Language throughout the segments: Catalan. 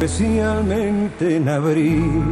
especialmente en abril.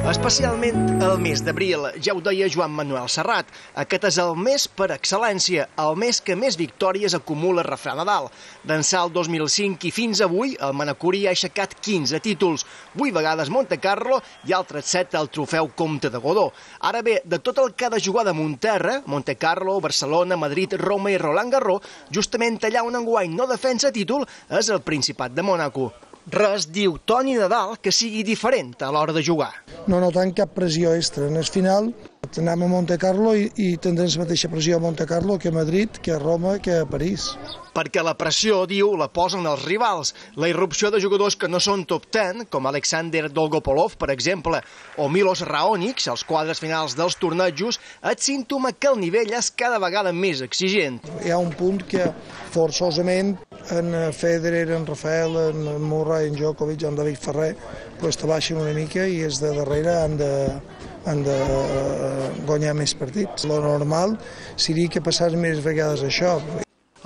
Especialment el mes d'abril, ja ho deia Joan Manuel Serrat, aquest és el mes per excel·lència, el mes que més victòries acumula Refrà Nadal. D'ençà el 2005 i fins avui, el manacorí ha aixecat 15 títols, 8 vegades Montecarlo i altres 7 al trofeu Comte de Godó. Ara bé, de tot el que ha de jugar de Monterra, Montecarlo, Barcelona, Madrid, Roma i Roland Garros, justament allà on enguany no defensa títol és el Principat de Mònaco. Res, diu Toni Nadal, que sigui diferent a l'hora de jugar. No notem cap pressió extra. En el final anem a Montecarlo i tindrem la mateixa pressió a Montecarlo que a Madrid, que a Roma, que a París. Perquè la pressió, diu, la posen els rivals. La irrupció de jugadors que no són top 10, com Alexander Dolgopolov, per exemple, o Milos Raonic, als quadres finals dels tornejos, és símptoma que el nivell és cada vegada més exigent. Hi ha un punt que forçosament en Federer, en Rafael, en Murray, en Djokovic, en David Ferrer, pues te baixen una mica i és de darrere han de guanyar més partits. Lo normal seria que passés més vegades això.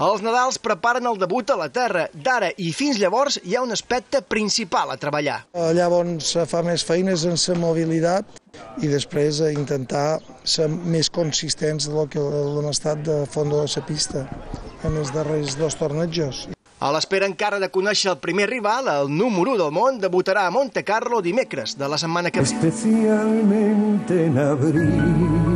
Els Nadals preparen el debut a la terra. D'ara i fins llavors hi ha un aspecte principal a treballar. Llavors fa més feines en la mobilitat i després intentar ser més consistents del que hem estat de fons de la pista en els darrers 2 tornejos. A l'espera encara de conèixer el primer rival, el número 1 del món debutarà a Montecarlo dimecres de la setmana que ve. Especialmente en abril.